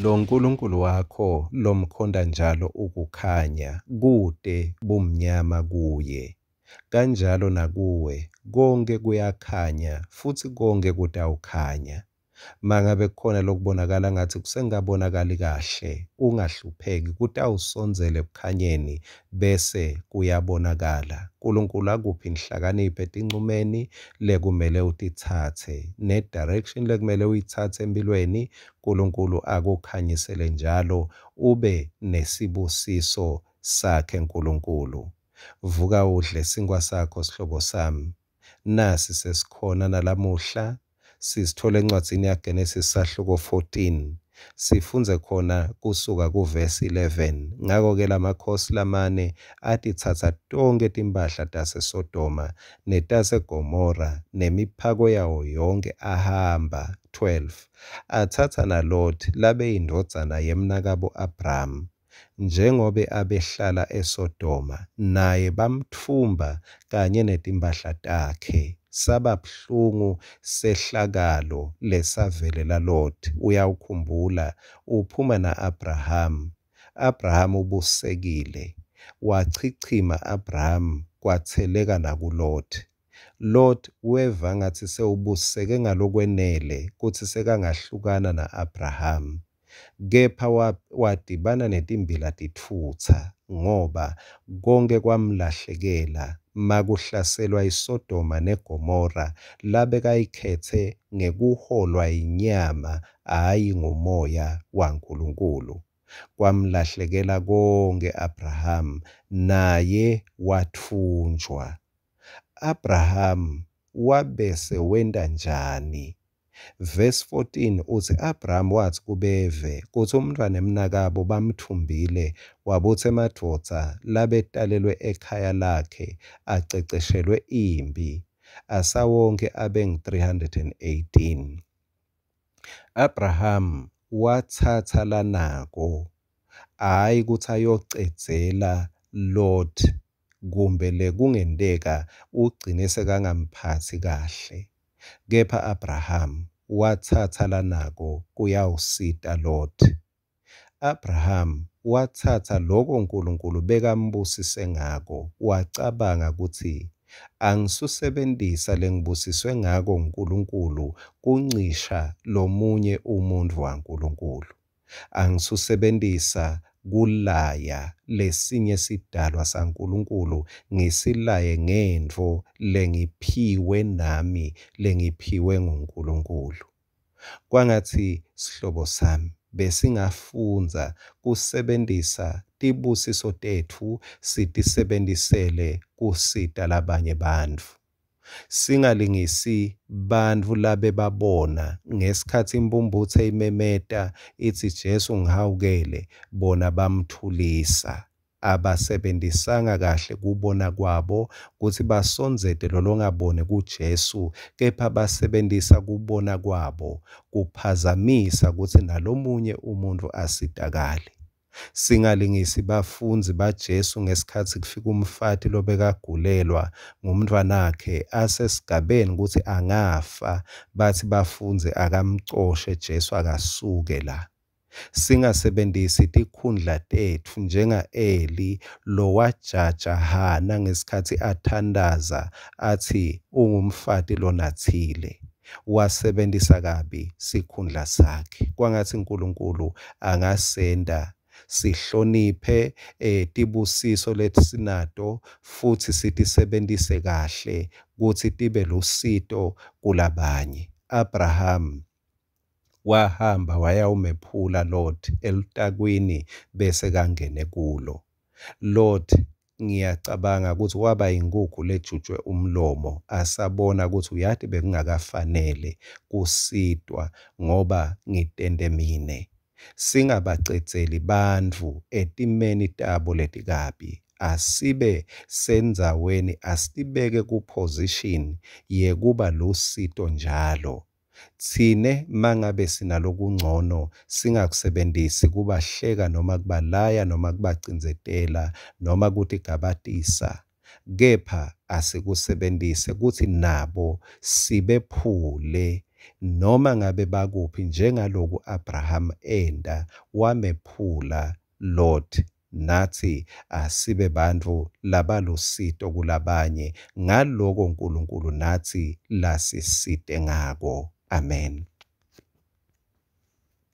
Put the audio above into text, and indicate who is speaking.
Speaker 1: LoNkulunkulu wakho lomkhonta njalo ukukhanya, kute bumnyama kuye. Kanjalo nakuwe, konkhe kuyakhanya futsi konkhe kutawukhanya. Mangabe kukhona lokubonakala ngatsi kusengakabonakali kahle, ungahlupheki, kutawusondzela ekukhanyeni bese kuyabonakala. Nkulunkulu akuphe inhlakanipho etincumeni lekumele utitsatse ne-direction lekumele uyitsatse emphilweni. Nkulunkulu akukhanyisele njalo ube nesibusiso sakhe Nkulunkulu. Vuka udle sinkhwa sakho sihlobo sami. Nasi sesikhona nalamuhla sisithola encwadzini yaGenesis sahluko 14. Sifundze khona kusuka kuvesi 11. Ngako-ke lamakhosi lamane atitsatsa tonkhe timphahla taseSodoma netaseGomora nemiphako yawo yonkhe ahamba. 12 atsatsa naLoti labeyindvodzana yemnakabo-Abrama, njengobe abehlala eSodoma, naye bamtfumba kanye netimphahla takhe. Saba buhlungu sehlakalo lesavelela Loti. Uyawukhumbula uphuma na-Abrahama. Abrahama ubusisekile. Wachichima Abrahama kwatseleka nakuLoti. Loti weva ngatsi sewubusiseke ngalokwenele kutsi sekangahlukana na-Abrahama. Kepha wadibana netimbila titfutsa ngoba konkhe kwamlahlekela makuhlaselwa iSodoma neGomora labekayikhetse ngekuholwa yinyama hhayi ngumoya waNkulunkulu. Kwamlahlekela konkhe Abrahama, naye watfunjwa. Abrahama wabese wenta njani? Verse 14 utsi Abraham watsi kubeve kutsi umntfwanemnakabo bamtfumbile, wabutsa emadvodza labetalelwe ekhaya lakhe aceceshelwe imphi, asawonkhe abengu-318. Abraham watsatsa lanako, hhayi kutsi ayocedzela Lot kumbe lekungenteka ugcine sekangamphatsi kahle. Kepha Abraham watsatsa lanako kuyawusita Lot. Abraham watsatsa loko Nkulunkulu bekambusise ngako, wacabanga kutsi angisusebentisa lengibusiswe ngako nguNkulunkulu kuncisha lomunye umuntfu waNkulunkulu. Angisusebentisa kulaya lesinye sidalwa saNkulunkulu ngisilaye ngentfo lengiphiwe nami lengiphiwe nguNkulunkulu. Kwangatsi sihlobo sami besingafundza kusebentisa tibusiso tetfu sitisebentisele kusita labanye bantfu. Singalingisi bantfu labebabona ngesikhatsi imphumphutse imemeta itsi Jesu ngihawukele, bona bamthulisa. Abasebentisanga kahle kubona kwabo kutsi basondzete lolongaboni kuJesu, kepha basebentisa kubona kwabo kuphazamisa kutsi nalomunye umuntfu asitakale. Singalingisi bafundzi baJesu ngesikhatsi kufika umfati lobekagulelwa ngumntfwanakhe asesigabeni kutsi angafa, batsi bafundzi akamcoshe Jesu akasuke la. Singasebentisi tikhundla tetfu njenga-Eli lowajaja Hana ngesikhatsi athandaza atsi ungumfati lonatsile. Wasebentisa kabi sikhundla sakhe. Kwangatsi Nkulunkulu angasenta sihloniphe tibusiso lesinato futsi sitisebentise kahle kutsi tibe lusito kulabanye. Abraham wahamba wayawumephula Lot elutakwini bese kangene kulo. Lot ngiyacabanga kutsi waba yinkhukhu lejutjwe umlomo asabona kutsi uyati bekungakafanele kusitwa ngoba ngitente mine. Singabacedzeli bantfu etimeni tabo letikabi. Asibe sendzaweni, asitibeke ku-position yekuba lusito njalo. Tsine mangabe sinalokuncono singakusebentisi kubahleka noma kubalaya noma kubacindzetela noma kutigabatisa, kepha asikusebentise kutsi nabo sibephule. noma ngabe bakuphi njengaloku Abraham enta wamephula Lot natsi asibe bantfu labalusito kulabanye ngaloko Nkulunkulu natsi lasisite ngako. Amen.